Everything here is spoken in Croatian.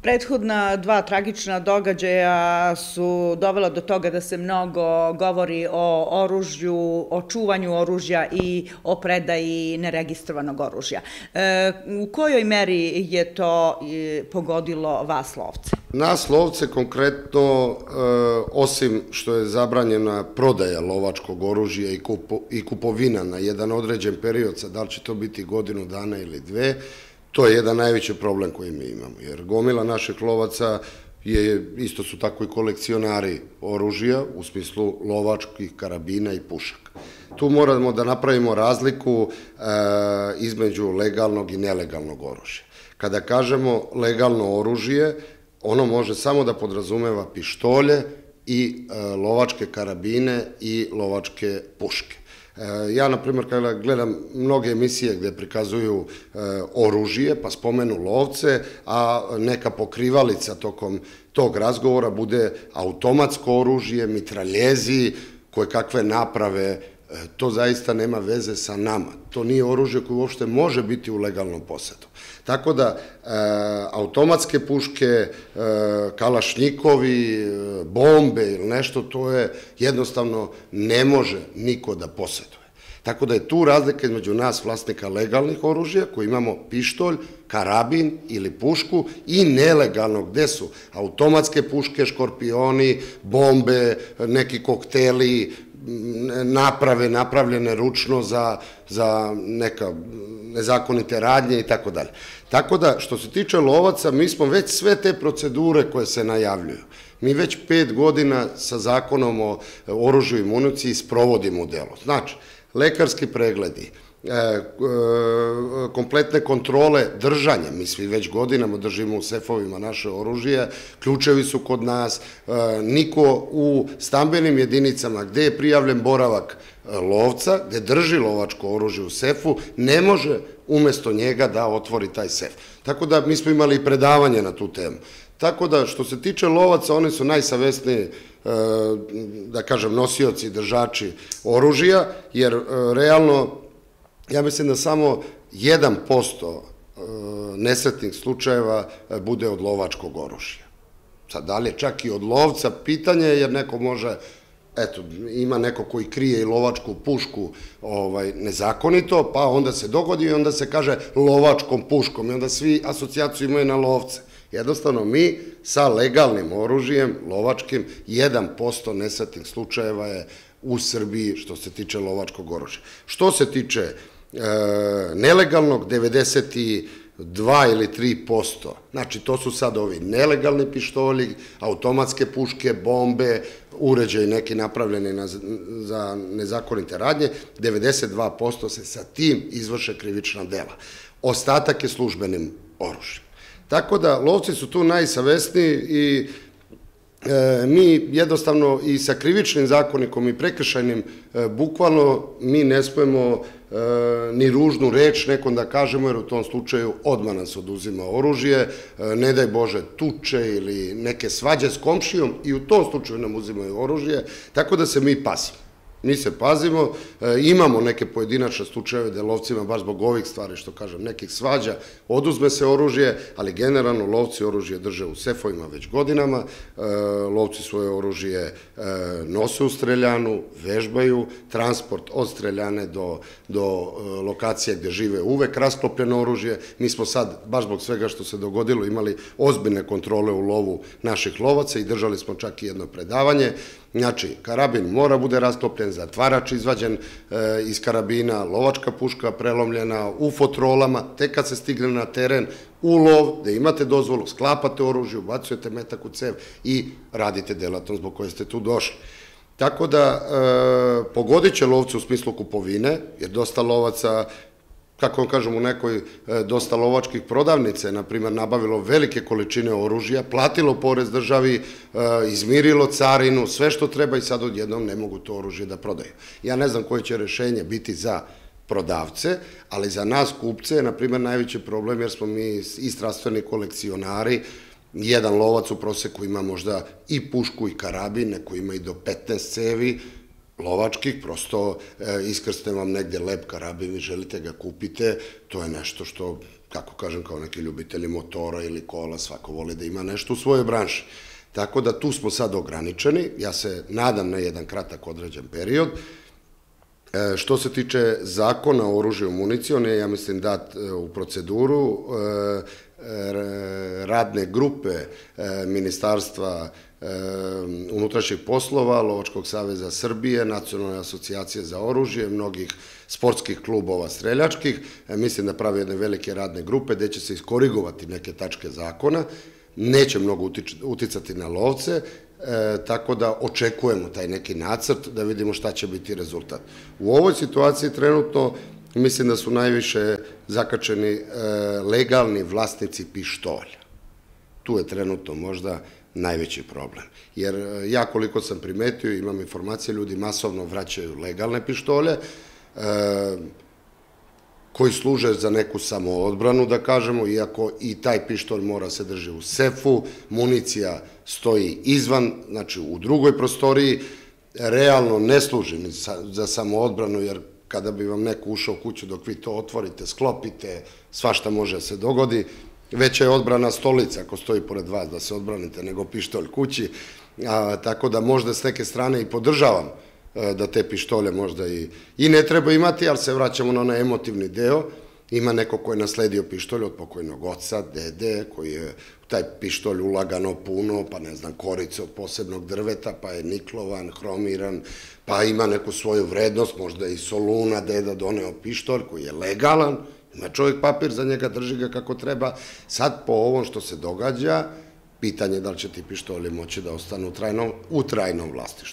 Prethodna dva tragična događaja su dovela do toga da se mnogo govori o oružju, o čuvanju oružja i o predaji neregistrovanog oružja. U kojoj meri je to pogodilo vas lovce? Nas lovce konkretno, osim što je zabranjena prodaja lovačkog oružja i kupovina na jedan određen period, sad da li će to biti godinu dana ili dve, to je jedan najveći problem koji mi imamo, jer gomila naših lovaca isto su tako i kolekcionari oružja u smislu lovačkih karabina i pušaka. Tu moramo da napravimo razliku između legalnog i nelegalnog oružja. Kada kažemo legalno oružje, ono može samo da podrazumeva pištolje i lovačke karabine i lovačke puške. Ja, na primjer, kada gledam mnoge emisije gde prikazuju oružje, pa spomenu lovce, a neka pokrivalica tokom tog razgovora bude automatsko oružje, mitraljezi, koje kakve naprave, to zaista nema veze sa nama. To nije oružje koje uopšte može biti u legalnom posedu. Tako da, automatske puške, kalašnjikovi, bombe ili nešto, to je jednostavno ne može niko da poseduje. Tako da je tu razlika između nas, vlasnika legalnih oružja, koji imamo pištolj, karabin ili pušku, i nelegalnog, gde su automatske puške, škorpioni, bombe, neki kokteli, naprave napravljene ručno za neka nezakonite radnje i tako dalje. Tako da, što se tiče lovaca, mi smo već sve te procedure koje se najavljuju. Mi već 5 godina sa zakonom o oružju i municiji sprovodimo u delo. Znači, lekarski pregledi, kompletne kontrole držanja, mi svi već godinama držimo u sefovima naše oružje, ključevi su kod nas, niko u stambenim jedinicama gde je prijavljen boravak lovca, gde drži lovačko oružje u sefu, ne može umesto njega da otvori taj sef. Tako da mi smo imali predavanje na tu temu. Tako da, što se tiče lovaca, oni su najsavesniji, da kažem, nosioci, držači oružja, jer realno, ja mislim da samo 1% nesretnih slučajeva bude od lovačkog oružja. Sad, da li je čak i od lovca, pitanje, jer neko može, eto, ima neko koji krije i lovačku pušku nezakonito, pa onda se dogodi i onda se kaže lovačkom puškom i onda svi asocijaciju imaju na lovce. Jednostavno, mi sa legalnim oružjem, lovačkim, 1% nesretnih slučajeva je u Srbiji što se tiče lovačkog oružja. Što se tiče nelegalnog, 92 ili 3%. Znači, to su sad ovi nelegalni pištolji, automatske puške, bombe, uređaji neki napravljeni za nezakonite radnje, 92% se sa tim izvrše krivična dela. Ostatak je službenim oružjem. Tako da, lovci su tu najsavesniji i mi jednostavno i sa krivičnim zakonikom i prekršajnim, bukvalno mi ne smemo ni ružnu reč nekom da kažemo, jer u tom slučaju odmah nas oduzima oružje, ne daj Bože tuče ili neke svađe s komšijom i u tom slučaju nam uzimaju oružje, tako da se mi pazimo. Mi se pazimo, imamo neke pojedinačne slučajeve da lovcima, baš zbog ovih stvari, što kažem, nekih svađa, oduzme se oružje, ali generalno lovci oružje drže u sefovima već godinama, lovci svoje oružje nose u streljanu, vežbaju, transport od streljane do lokacije gde žive uvek rasklopljeno oružje. Mi smo sad, baš zbog svega što se dogodilo, imali ozbiljne kontrole u lovu naših lovaca i držali smo čak i jedno predavanje. Znači, karabin mora bude rasklopljen, zatvarač izvađen iz karabina, lovačka puška prelomljena u fotrolama, tek kad se stigne na teren u lov, gde imate dozvolu, sklapate oružje, ubacujete metak u cev i radite delatnost zbog koje ste tu došli. Tako da, pogodit će lovce u smislu kupovine, jer dosta lovaca, kako vam kažem, u nekoj dosta lovačkih prodavnice, na primjer, nabavilo velike količine oružja, platilo porez državi, izmirilo carinu, sve što treba i sad odjednom ne mogu to oružje da prodaju. Ja ne znam koje će rešenje biti za prodavce, ali za nas kupce je, na primjer, najveći problem jer smo mi i strastveni kolekcionari. Jedan lovac u proseku ima možda i pušku i karabin, neko ima i do 15 cevi, lovačkih, prosto iskrsne vam negde lep karabin i želite ga kupite, to je nešto što kako kažem, kao neki ljubitelji motora ili kola, svako voli da ima nešto u svojoj branši. Tako da tu smo sad ograničeni, ja se nadam na jedan kratak određen period. Što se tiče zakona o oružju i municiji, on je, ja mislim, dat u proceduru. Radne grupe Ministarstva unutrašnjih poslova, Lovačkog saveza Srbije, Nacionalne asocijacije za oružje, mnogih sportskih klubova streljačkih, mislim da pravi jedne velike radne grupe gde će se iskorigovati neke tačke zakona, neće mnogo uticati na lovce, tako da očekujemo taj neki nacrt da vidimo šta će biti rezultat. U ovoj situaciji trenutno mislim da su najviše zakačeni legalni vlasnici pištolja. Tu je trenutno možda najveći problem. Jer ja koliko sam primetio, imam informacije, ljudi masovno vraćaju legalne pištolje, koji služe za neku samoodbranu, da kažemo, iako i taj pištolj mora se drži u sefu, municija stoji izvan, znači u drugoj prostoriji, realno ne služi ni za samoodbranu, jer kada bi vam neko ušao u kuću dok vi to otvorite, sklopite, svašta može se dogodi. Veća je odbrana stolica ako stoji pored vas da se odbranite nego pištolj kući, tako da možda s neke strane i podržavam da te pištolje možda i ne treba imati, ali se vraćamo na onaj emotivni deo. Ima neko ko je nasledio pištolj od pokojnog oca, dede, koji je taj pištolj ulagano puno, pa ne znam, korice od posebnog drveta, pa je niklovan, hromiran, pa ima neku svoju vrednost, možda i Soluna, deda doneo pištolj koji je legalan, ima čovjek papir za njega, drži ga kako treba. Sad po ovom što se događa, pitanje je da li će ti pištolji moći da ostanu u trajnom vlasništvu.